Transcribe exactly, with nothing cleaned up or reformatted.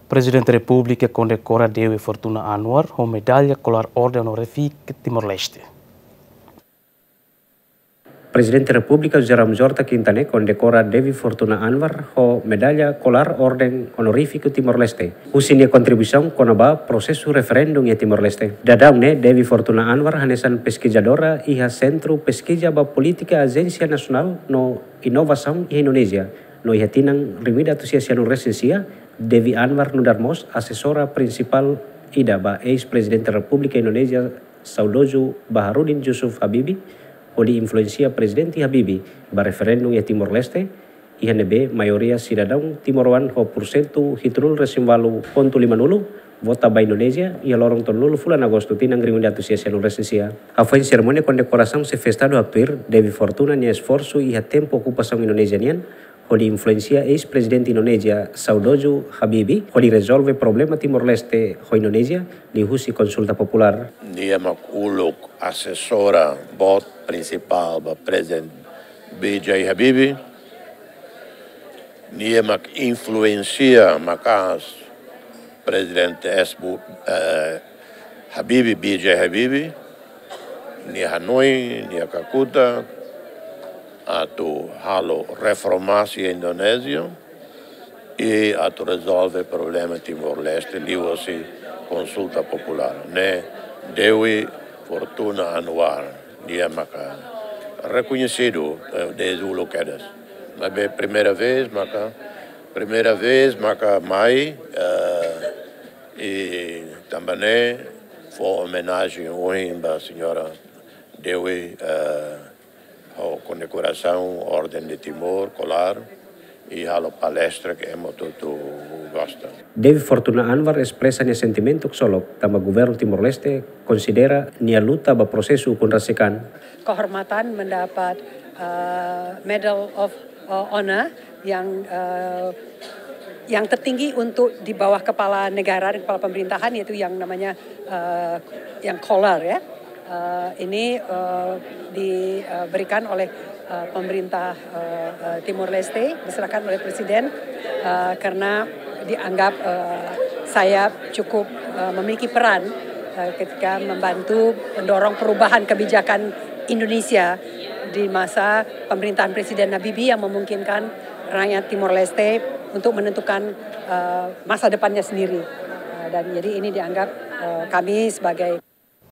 Prezidente Repúblika kondekora Dewi Fortuna Anwar ho medalla kolar Orden Onorífika Timor-Leste. Prezidente Repúblika José Ramos Horta Quintanilla kondekora Dewi Fortuna Anwar ho medalla kolar Orden Onorífika Timor-Leste husi nia kontribuisaun kona-ba prosesu referendum iha Timor-Leste. Daudaun ne'e, Dewi Fortuna Anwar hanesan peskizadora iha Sentru Peskiza ba Polítika Ajénsia Nasionál no Inovasaun iha Indonézia, no iha tinan rihun ida atus sia sianulu resin sia, Dewi Anwar nu'udar mós asesora prinsipál ida ba eis-Prezidente Repúblika Indonézia saudozu Baharudin Yusuf Habibie, hodi influensia Prezidente Habibie ba referendum iha Timor-Leste, iha ne'ebé maioria sidadaun timoroan ho pursentu hitunulu resin ualu pontu limanulu vota ba Indonézia iha loron tolunulu fulan Agostu tinan rihun ida atus sia sianulu resin sia. Hafoin serimónia kondekorasaun xefe Estadu haktuir, Dewi Fortuna nia esforsu iha tempu okupasaun Indonézia nian, hodi influensia eis-Prezidente Indonézia saudozu Habibie hodi rezolve problema Timor-Leste ho Indonézia liuhusi konsulta populár. Nia mak uluk asesora boot prinsipál ba Prezidente B J Habibie. Nia mak influensia maka'as Prezidente eis-boot, eh, Habibie, B J Habibie, nia hanoin, nia kakutak atu halo reforma iha Indonézia i atu rezolve problema Timor-Leste liuhusi konsulta populár. Ne'e Dewi Fortuna Anwar, nia maka rekoñesidu, eh, dezde uluk kedas. Maibé primeira vez maka, primeira vez maka mai, eh, i tanba ne'e fó omenajen ohin ba señora Dewi, eh, ho kondekorasaun Orden de Timor, kolar, i halo palestra ke ema hotu-hotu gosta. Dewi Fortuna Anwar espresa nia sentimentu ksolok tanba governu Timor-Leste konsidera nia luta ba prosesu ukun rasik an. Kehormatan mendapat, eh, Medal of, eh, Honor yang, eh, yang tertinggi untuk di bawah kepala negara dan kepala pemerintahan, yaitu yang namanya, eh, yang kolar, ya. Eh, ini, eh, diberikan oleh, eh, pemerintah, eh, eh, Timor Leste, diserahkan oleh Presiden, eh, karena dianggap, eh, saya cukup, eh, memiliki peran, eh, ketika membantu mendorong perubahan kebijakan Indonesia di masa pemerintahan Presiden Habibie yang memungkinkan rakyat Timor Leste untuk menentukan, eh, masa depannya sendiri. Eh, dan jadi ini dianggap, eh, kami sebagai